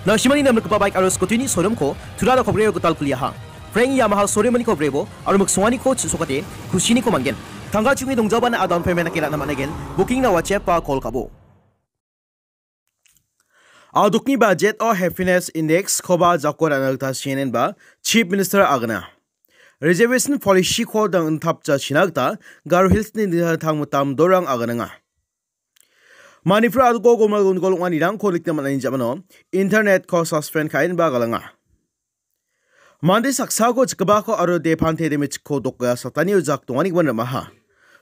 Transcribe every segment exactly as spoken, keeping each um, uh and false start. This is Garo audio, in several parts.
Nasimani namrikgipa baik aro scooty-ni showroom-ko Tura Rokhobrio gital kuliaha. Frank Yamaha showroom-niko brebo aro miksonganiko chisokate kusiniko man·gen. Tangka chungi dongjabana a down payment-nake ra·na man·aigen. Booking-na WhatsApp-ba call ka·bo. A dokni budget-o Happiness Index-koba jako ra·na gita sienenba Chief Minister agana. Reservation policy-ko dangtapjachina gita Garo Hills-ni dingtang mitam dorang aganenga. Manipur a doko gomol gondogol ong·anirangko nikna man·ani jamano internet-ko suspend ka·enba galanga. Mande saksako chikgipako aro depante demichiko doka satanio jak donganigimin ramaha.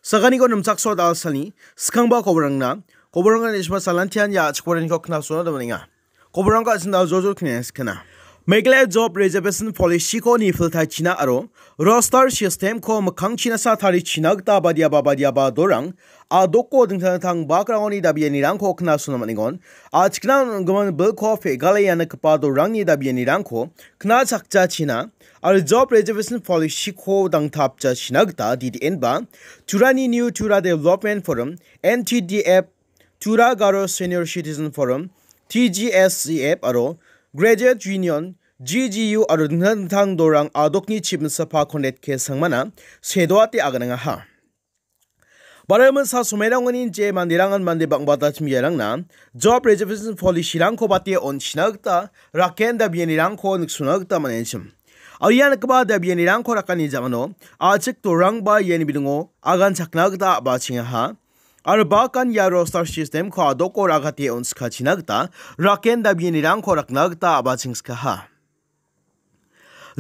Saganiko nimchakso dalsani skangba koborangna, koborangna nisma salantian ia achikoraniko knasona damanenga. Koborangko asinda jojol knes kena. Meghalaya Job Reservation Policy-ko nipiltaichina aro roster system-ko mikkangchina sa tarichina gita badiaba badiaba dorang a doko dingtang dingtang bakrangoni dabianirangko knasona man·engon. A chikna on·gimin bilko pegale ianakgipa dorangni dabianirangko knachakjachina aro Job Reservation Policy-ko dangtapjachina gita D D N ba Turani New Tura Development Forum, N T D F, Tura Garo Senior Citizen Forum, T G S C F aro Graduate Union, G G U aro dingtang dingtang dorang a dokni Chief Minister Conrad K Sangmana sedoate aganengaha. Baroimin sa somairangoni je manderangan mande bang·bata chimiarangna Job Reservation Policy-rangko bate on·china gita raken dabianirangko niksona gita man·enchim. Aro ia nikgipa dabianirangko rakani jamano a chik dorangba iani bidingo agan chakna gita a·bachengaha. Aro bakan ia roster system-ko a doko ragate on·sikachina gita raken dabianirangko rakna gita a·bachengskaha.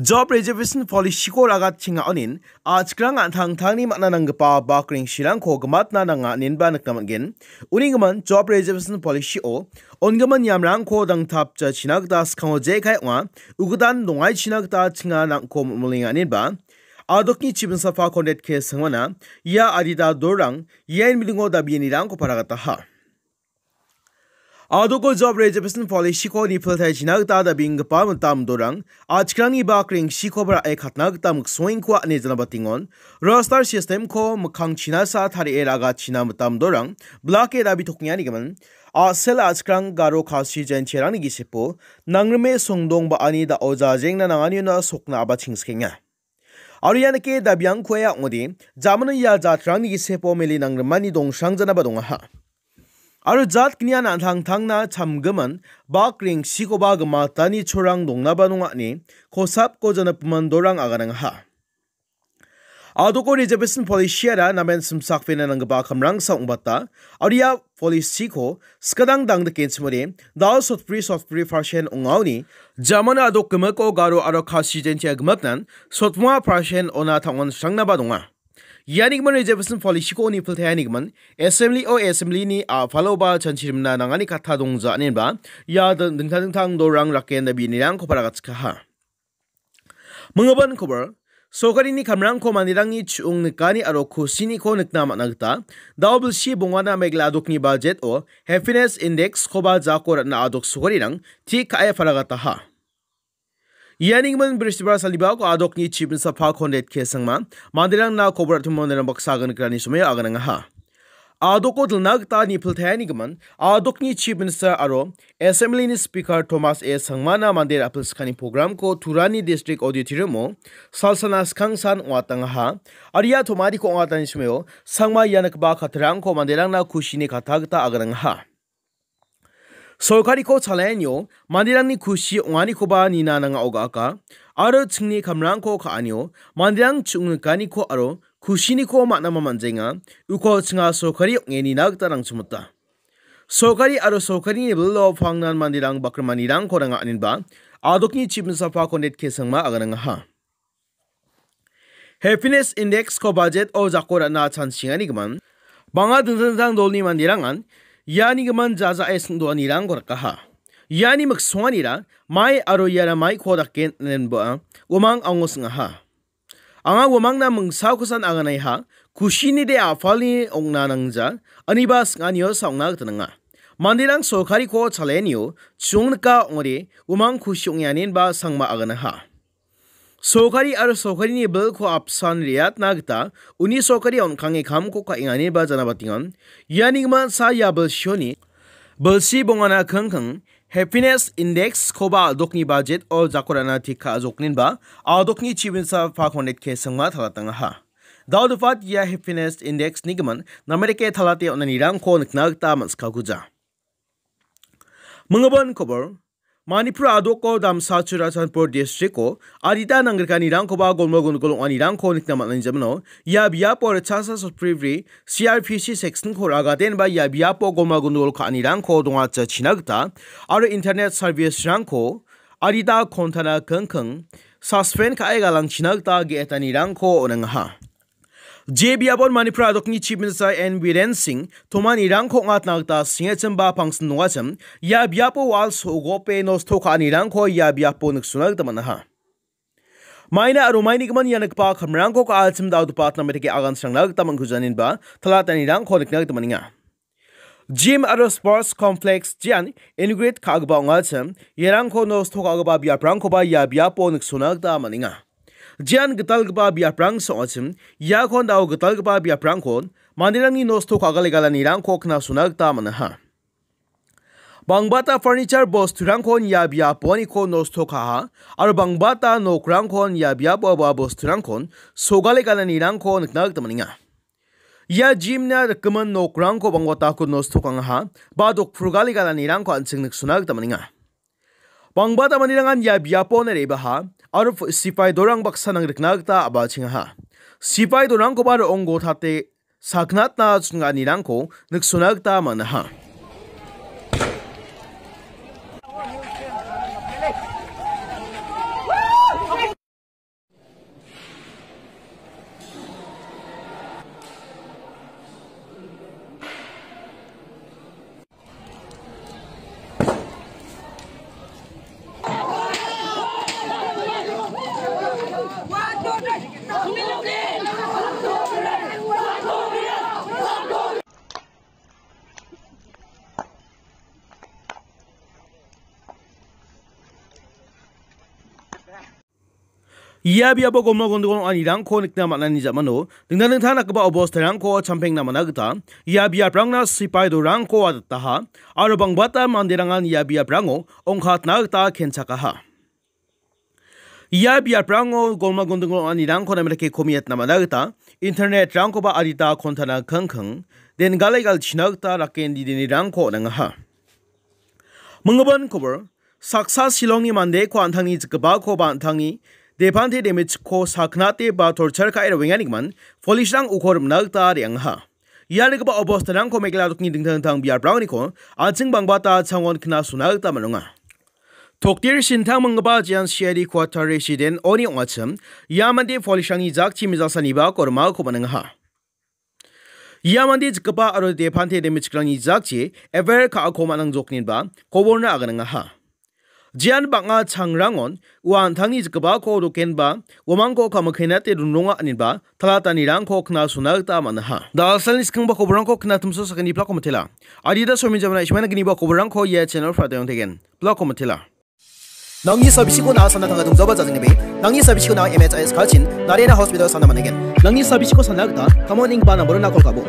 Job Reservation Policy-ko ragatchenga onin a chikrang an·tangtangni man·a nanggipa bakreng sirangko gimatna nanga inenba nikna man·gen. Uni gimin Job Reservation Policy-o on·gimin niamrangko dangtapjachina gita skango jekai ong·a ugidan dongaichina gita chinga nangko molmolenga inenba a dokni Chief Minister Conrad K Sangmana ia adita dorang iain bilingo dabianirangko paragataha. A doko Job Reservation Policy-ko nipiltaichina gita dabenggipa mitam dorang a chikrangni bakreng sikoba ra·e katna gita miksongengko ane janabatengon. Roster system-ko mikkangchina sa tarie ragachina mitam dorang blake dabi tokengani gimin a·sel a chikrang Garo Khasi Jaintiarangni gisepo nangrime songdong ba·ani da·o jajengna nanganiona sokna a·bachengsikenga. Aro ia nike dabiangkoa ong·ode, jamano ia jatrangni gisepo mele nangrimani dongsrangjanaba dongaha. Aro jat gnian an·tangtangna chamgimin bak rengsikoba gimatani chorang dongnaba nonga ine kosapko janapiman dorang aganangaha. A doko Reservation Policy-ara namen simsakpena nanggipa kamrangsa ong·bata, aro ia policy-ko skadang dangdike chimode, dal sotbri sotbri percent ong·aoni, jamano a dok gimiko Garo aro Khasi Jaintia gimatnan sotbonga percent ona tang·on srangnaba donga. Iani gimin Reservation Policy-ko nipiltaia nigimin, Assembly-o Assembly-ni a·paloba chanchirimna nangani katha dongja inenba, ia ding-, dingtang dingtang dorang raken dabi inirangko paragatchikaha. Minggipa kobor, sorkarini kamrangko manderangni chu·ong nikani aro kusiniko nikna man·a gita, dao bilsi bongana Meghalaya a dokni budget-o Happiness Index-koba jako ra·na a dok sorkarirang tik ka·e paragataha. Iani gimin Bristibar salibako a dokni Chief Minister Conrad K Sangma manderangna kobor ra·timo manderang baksa agan nikrani somoio aganangaha. A doko dilna gita nipiltaia nigimin, a dokni Chief Minister aro Assembly-ni Speaker Thomas A Sangmana mande ra·pilskani program-ko Turani District Auditorium-o salsana skangsan ong·atangaha. Aro ia tomariko ong·atani somoio Sangma ia nikgipa kattarangko manderangna kusini katha gita aganangaha. Sorkariko chalaenio manderangni kusi ong·anikoba nina nanga oga·aka, aro chingni kamrangko ka·anio manderang chu·ngnikaniko aro kusiniko man·ama man·jaenga, uko chinga sorkari ong·e nina gita rangchimota. Sorkari aro sorkarini bilo pangnan manderang bakrimanirangko nanga aninba, a dokni Chief Minister Conrad K Sangma aganangaha. Happiness Index-ko budget-o jako ra·na chanchingani gimin, bang·a dingtang dingtang dolni manderangan iani gimin jajae singdoanirangko rikaha. Iani miksonganira mai aro iara maiko dake nenba uamang ango sing·aha. Anga uamangna mingsakosan anganaiha, kusinide a·palni ong·na nangja, aniba sing·aniosa ong·na gita nanga. Manderang sorkariko chalaenio chu·ong nika ong·ode uamang kusi ong·e aninba Sangma aganaha. Sorkari aro sorkarini bilko apsan re·atna gita uni sorkari on·kange kamko ka·enganiba janabatengan. Iani gimin sa ia bilsioni bilsi bongana kingking Happiness Index-koba a·dokni budget-o jako ra·na tik ka·a jokninba, a·dokni chibinsa pa Conrad K Singma talatangaha. Dao difat ia Happiness Index-nigimin namerike talate on·anirangko nikna gita man·sikaguja. Minggimin kobor, Manipur a·doko damsa Churachandpur district-o adita nangrikanirangkoba golma gondogol ong·anirangko nikna man·ani jamano ia biapo ritchasa sotbribri C R P C section-ko ragadenba ia biapo golma gondogol ka·anirangko dongachachina gita aro internet service-rangko adita kontana kingking suspend ka·e galangchina gita ge·etanirangko on·engaha. Je biapon Manipur a·dokni Chief Minister N Biren Singh tomanirangko ong·atna gita sengechimba pangsin dongachim, ia biapo wal so·gope nosto ka·anirangko ia biapo niksona gita man·aha. Maina aro mainigimin ia nikgipa kamrangko ka·achim dal·gipa namerike agan srangna gita man·kujaninba talatanirangko nikna gita man·enga. Gym aro sports complex jean inaugurate ka·gipa ong·achim, iarangko nosto ka·gipa biaprangkoba ia biapo niksona gita man·enga. Jean gitalgipa biaprang song·achim, iakon dao gitalgipa biaprangkon manderangni nosto ka·galegalanirangko knasona gita man·aha. Bangbata furniture bosturangkon ia biaponiko nosto ka·aha, aro bangbata nokrangkon ia biapo ua bosturangkon sogalegalanirangko nikna gita man·enga. Ia gym-na rikgimin nokrangko bangbatako nosto ka·angaha, ba dokpurgalegalanirangko an·ching niksona gita man·enga. Bangbata manderangan ia biapon re·baha, aro f-, sipai dorang baksa nangrikna gita a·bachengaha. Sipai dorangkoba ro·onggo tate saknatna ching·anirangko niksona gita man·aha. Ia biapo golma gondogol ong·anirangko nikna man·ani jamano dingtang dingtang dakgipa obostarangko champengna man·a gita ia biaprangna sipai dorangko aditaha aro bangbata manderangan ia biaprango ongkatna gita kenchakaha. Ia biaprango golma gondogol ong·anirangko namerake komiatna man·a gita internet-rangkoba adita kontana kingking dengale galchina gita rake indidenirangko on·angaha. Minggimin kobor, saksa Shillongni mandeko an·tangni jikgipako ba an·tangni depante demichiko saknate ba torchar ka·e roenganigimin polisrang uko rimna gita re·angaha. Ia nikgipa obostarangko Meghalaya a·dokni dingtang dingtang biaprangniko an·ching bangbata changon knasona gita man·onga. Tokdir Sintang minggipa jean C I D quarter resident oni ong·achim, ia mande polisrangni jakchi mijalsaniba kormako man·engaha. Ia mande jikgipa aro depante demichikrangni jakchi F I R ka·ako man·angjokninba koborna aganangaha. Jean bang·a changrangon ua an·tangni jikgipako dokenba uamangko kamikkenate rongrongaininba talatanirangko knasona gita man·aha. Da·alsalni skangba koborangko knatimso sakgni plako mitela. Adita somi jamna ismaina gniba koborangko ia channel pratayong tegen. Plako mitela. Nangni sabisiko na·a sana tangka dongzaba jajengnibe. Nangni sabisiko na·a M H I S kalchin, Narayana Hospital sana man·aigen. Nangni sabisiko sana gita, kamon ning ba namborona kol ka·bo.